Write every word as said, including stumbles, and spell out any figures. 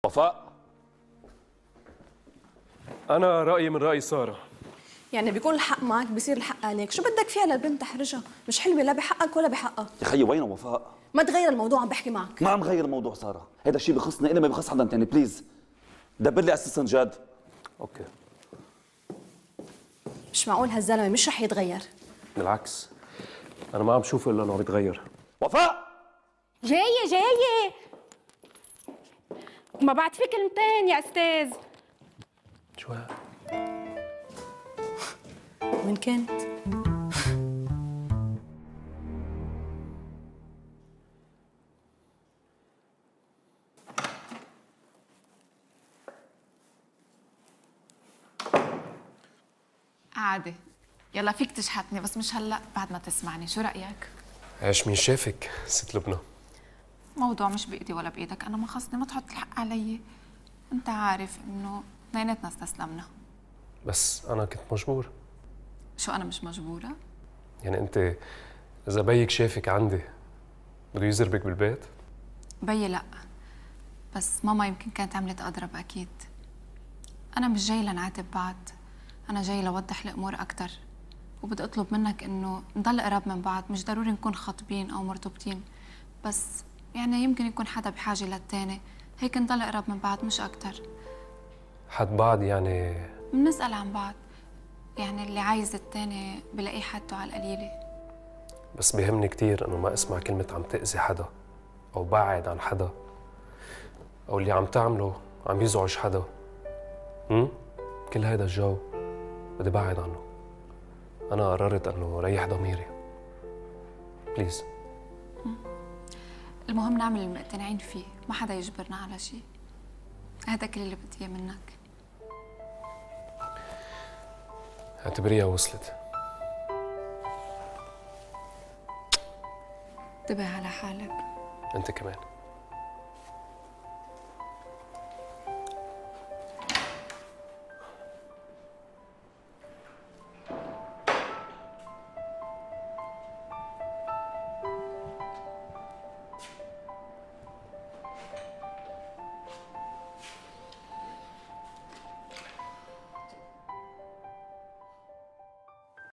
وفاء، أنا رأيي من رأي سارة. يعني بيكون الحق معك بصير الحق عليك، شو بدك فيها للبنت تحرجها؟ مش حلوة لا بحقك ولا بحقها. يا خيي وين وفاء؟ ما تغير الموضوع، عم بحكي معك. ما عم غير الموضوع سارة، هذا الشيء بخصني أنا ما بخص حدا تاني، بليز دبر لي اسيستنت جاد. أوكي. مش معقول هالزلمة مش رح يتغير. بالعكس، أنا ما عم شوف إلا إنه عم يتغير. وفاء جاية جاية، ما بعد في كلمتين يا أستاذ. شو هاد؟ وين كانت؟ عادي، يلا فيك تشحتني بس مش هلا، بعد ما تسمعني. شو رأيك؟ عايش مين شافك ست لبنى؟ موضوع مش بإيدي ولا بإيدك، أنا ما خصني، ما تحط الحق علي. أنت عارف إنه اثنيناتنا استسلمنا. بس أنا كنت مجبور. شو أنا مش مجبورة؟ يعني أنت إذا بيك شافك عندي بده يزربك بالبيت؟ بيي لأ، بس ماما يمكن كانت عملت أضرب أكيد. أنا مش جاي لنعاتب بعض، أنا جاي لوضح الأمور أكتر، وبدي أطلب منك إنه نضل قراب من بعض. مش ضروري نكون خاطبين أو مرتبطين، بس يعني يمكن يكون حدا بحاجة للتاني، هيك نضل قراب من بعض مش أكتر. حد بعض يعني؟ بنسأل عن بعض، يعني اللي عايز التاني بلاقيه حده على القليلة. بس بيهمني كتير إنه ما أسمع كلمة عم تأذي حدا أو بعد عن حدا أو اللي عم تعمله عم يزعج حدا. هم؟ كل هيدا الجو بدي بعد عنه. أنا قررت إنه ريح ضميري. بليز. المهم نعمل المقتنعين فيه، ما حدا يجبرنا على شيء. هذا كل اللي بدي اياه منك. اعتبريها وصلت. انتبه على حالك. أنت كمان.